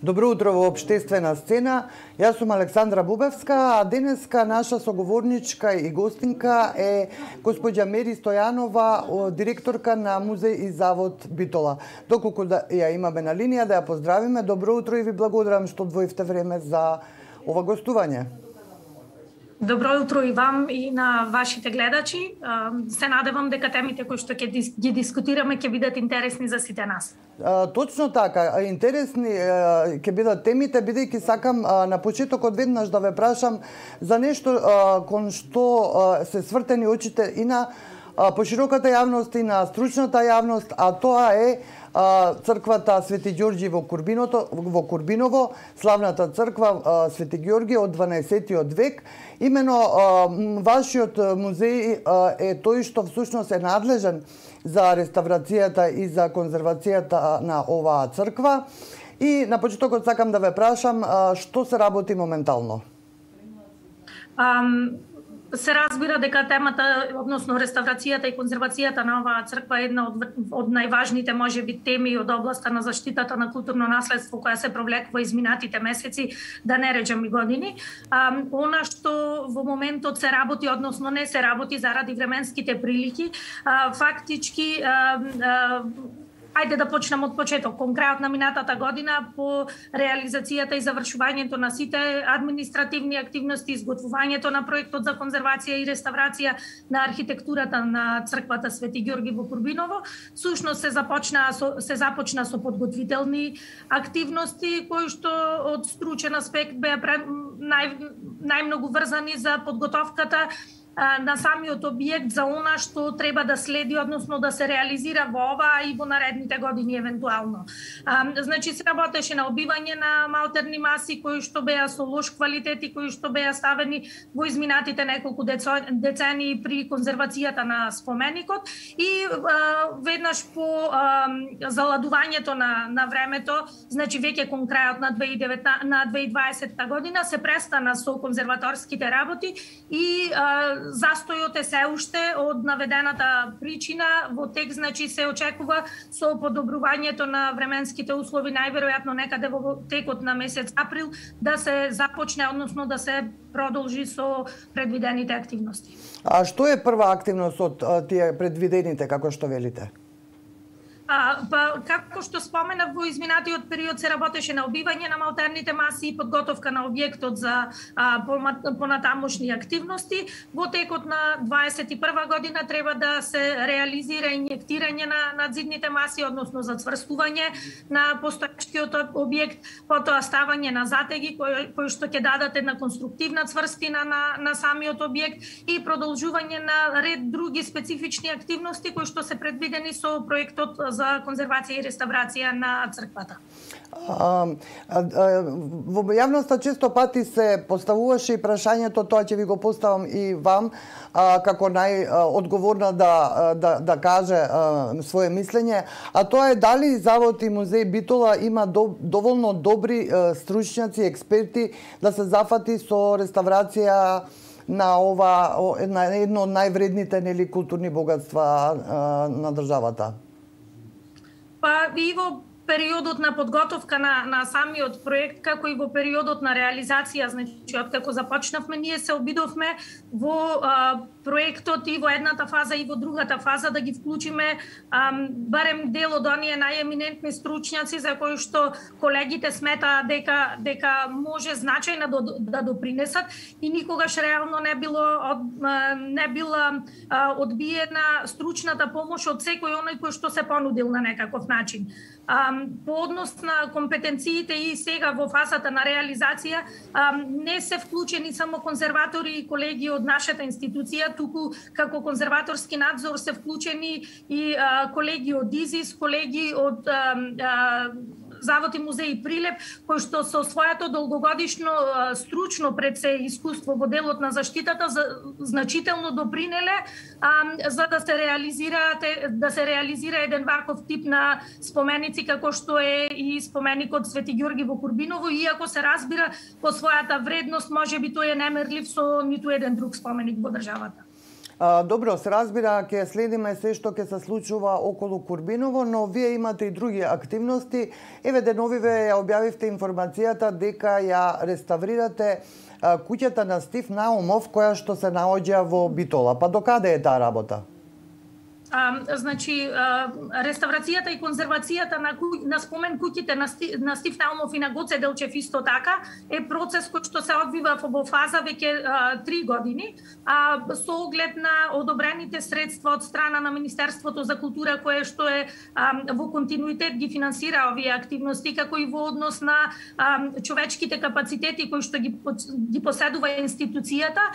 Добро утро во Обштествена сцена. Јас сум Александра Бубевска, а денеска наша соговорничка и гостинка е госпоѓа Мери Стојанова, директорка на Музеј и завод Битола. Доколку ја имаме на линија, да ја поздравиме. Добро утро и ви благодарам што одвоивте време за ова гостување. Добро утро и вам и на вашите гледачи. Се надевам дека темите кои што ќе ги дискутираме ќе бидат интересни за сите нас. Точно така, интересни ќе бидат темите, бидејќи сакам на почетокот веднаш да ве прашам за нешто кон што се свртени очите и на пошироката јавност и на стручната јавност, а тоа е црквата Свети Ѓорѓи во Курбиново, славната црква Свети Ѓорѓи од 12-тиот век. Имено вашиот музеј е тој што всушност е надлежен за реставрацијата и за конзервацијата на оваа црква. И на почетокот сакам да ве прашам што се работи моментално. Се разбира дека темата, односно реставрацијата и конзервацијата на оваа црква е една од најважните можеби теми од областа на заштитата на културно наследство која се провлекува изминатите месеци, да не речем и години. Она што во моментот се работи, односно не се работи заради временските прилики, фактички ајде да почнем од почеток. Кон крајот на минатата година по реализацијата и завршувањето на сите административни активности, изготвувањето на проектот за конзервација и реставрација на архитектурата на црквата Свети Ѓорѓи во Курбиново, всушност се започна со подготвителни активности кои што од стручен аспект беа најмногу врзани за подготовката на самиот објект за она што треба да следи, односно да се реализира во ова и во наредните години евентуално. Значи се работеше на обивање на малтерни маси кои што беа со лош квалитет и кои што беа ставени во изминатите неколку децении при конзервацијата на споменикот и веднаш по заладувањето на времето, значи веќе кон крајот на 2020 година се престана со конзерваторските работи и застојот е се уште од наведената причина во тек, значи се очекува со подобрувањето на временските услови најверојатно некаде во текот на месец април да се започне, односно да се продолжи со предвидените активности. А што е прва активност од тие предвидените, како што велите? Како што споменав, во изминатиот период се работеше на обивање на малтерните маси и подготовка на објектот за понатамошни активности. Во текот на 21 година треба да се реализира инјектирање на надзидните маси, односно зацврстување на постојачкиот објект, потоа ставање на затеги кои што ќе дадат една конструктивна цврстина на самиот објект и продолжување на ред други специфични активности кои што се предвидени со проектот за конзервација и реставрација на црквата. Во јавноста често пати се поставуваше и прашањето, тоа ќе ви го поставам и вам, како најодговорна да каже свое мислење, а тоа е дали Завод и Музеј Битола има доволно добри стручњаци, експерти да се зафати со реставрација на едно од највредните културни богатства на државата? И во периодот на подготовка на самиот проект, како и во периодот на реализација, значи откако започнавме, ние се обидовме во проектот и во едната фаза и во другата фаза да ги вклучиме барем дел од оние најеминентни стручњаци за кои што колегите сметаат дека може значајно да допринесат и никогаш реално не била одбиена стручната помош од секој оној кој што се понудил на некаков начин. По однос на компетенциите и сега во фазата на реализација не се вклучени само конзерватори и колеги од нашата институција, туку како конзерваторски надзор се вклучени и колеги од ИЗИС, колеги од Завод и Музеј Прилеп, кои што со своето долгогодишно стручно пред се искуство во делот на заштитата значително допринеле за да се реализира еден ваков тип на споменици како што е и споменикот Свети Ѓорѓи во Курбиново, иако се разбира по својата вредност можеби тој е немерлив со ниту еден друг споменик во државата. Добро, се разбира, ќе следиме се што ќе се случува околу Курбиново, но вие имате и други активности. Еве деновиве ја објавивте информацијата дека ја реставрирате куќата на Стив Наумов, која што се наоѓа во Битола. Па докаде е таа работа? Значи, реставрацијата и конзервацијата на спомен куќите на Стив Наумов и на Гоце Делчев исто така е процес кој што се одвива во фаза веќе 3 години, со оглед на одобрените средства од страна на Министерството за култура, кое што е во континуитет ги финансира овие активности, како и во однос на човечките капацитети кои што ги поседува институцијата.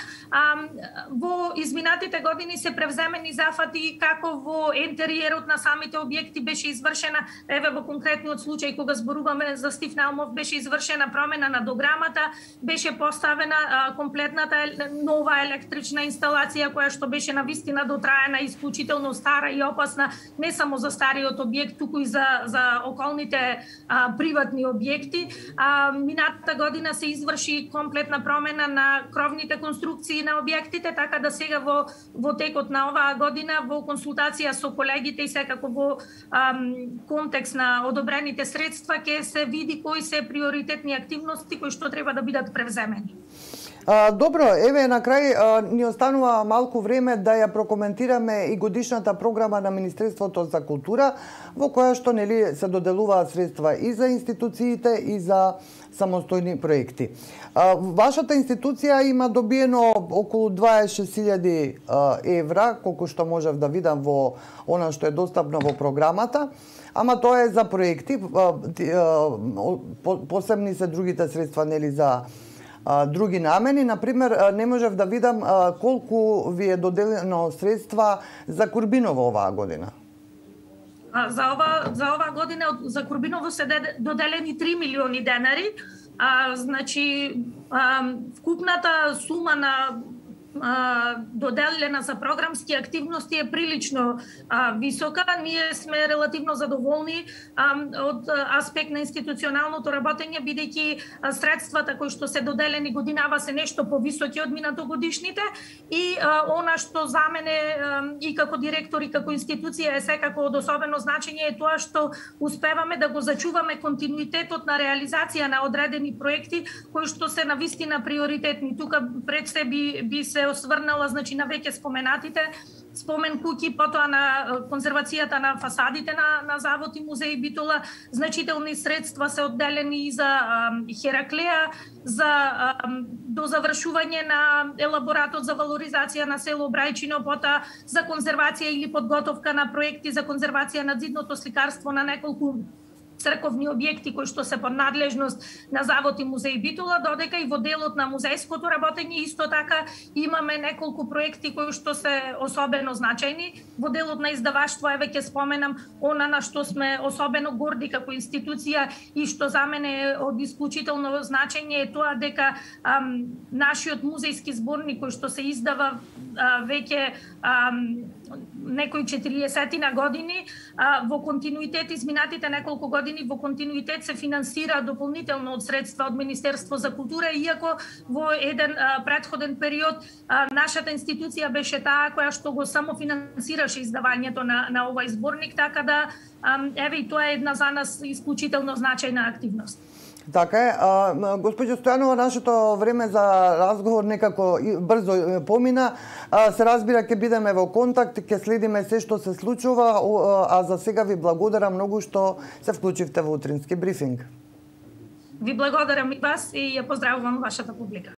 Во изминатите години се превземени зафати како во интериерот на самите објекти беше извршена, еве во конкретниот случај кога зборуваме за Стив Наумов, беше извршена промена на дограмата, беше поставена комплетната нова електрична инсталација која што беше навистина дотраена, исклучително стара и опасна не само за стариот објект, туку и за околните приватни објекти. Минатата година се изврши комплетна промена на кровните конструкции на објектите, така да сега во текот на оваа година во консултација со колегите и секако во контекст на одобрените средства ќе се види кои се приоритетни активности кои што треба да бидат превземени. Добро, еве на крај ни останува малку време да ја прокоментираме и годишната програма на Министерството за култура, во која што нели се доделуваат средства и за институциите и за самостојни проекти. Вашата институција има добиено околу 26.000 евра, колку што можев да видам во она што е достапно во програмата, ама тоа е за проекти, посебни се другите средства нели за други намени. Например, не можев да видам колку ви е доделено средства за Курбиново оваа година. За оваа година за Курбиново се доделени 3 милиони денари. Значи, вкупната сума на доделена за програмски активности е прилично висока. Ние сме релативно задоволни од аспект на институционалното работење, бидејќи средствата кои што се доделени годинава се нешто повисоки од минатогодишните и она што за мене и како директор и како институција е секако од особено значење е тоа што успеваме да го зачуваме континуитетот на реализација на одредени проекти кои што се навистина приоритетни. Тука пред се би се осврнала, значи, на веќе споменатите спомен куќи, потоа на конзервацијата на фасадите на Завод и музеј Битола. Значителни средства се одделени и за Хераклеа, за дозавршување на елаборатот за валоризација на село Брајчино, потоа за конзервација или подготовка на проекти за конзервација на зидното сликарство на неколку црковни објекти кои што се под надлежност на Завод и музеј Битола, додека и во делот на музејското работење исто така имаме неколку проекти кои што се особено значајни. Во делот на издаваштво еве ќе споменам она на што сме особено горди како институција и што за мене е од исклучително значење е тоа дека нашиот музејски зборник кој што се издава веќе некои 40 години, во континуитет изминатите неколку години во континуитет се финансира дополнително од средства од Министерство за култура, иако во еден претходен период нашата институција беше таа која што го само финансираше издавањето на овој зборник, така да еве и тоа е една за нас исклучително значајна активност. Така е. Госпоѓо Стојанова, нашето време за разговор некако брзо помина. Се разбира, ќе бидеме во контакт, ќе следиме се што се случува, а за сега ви благодарам многу што се вклучивте во утрински брифинг. Ви благодарам и вас и ја поздравувам вашата публика.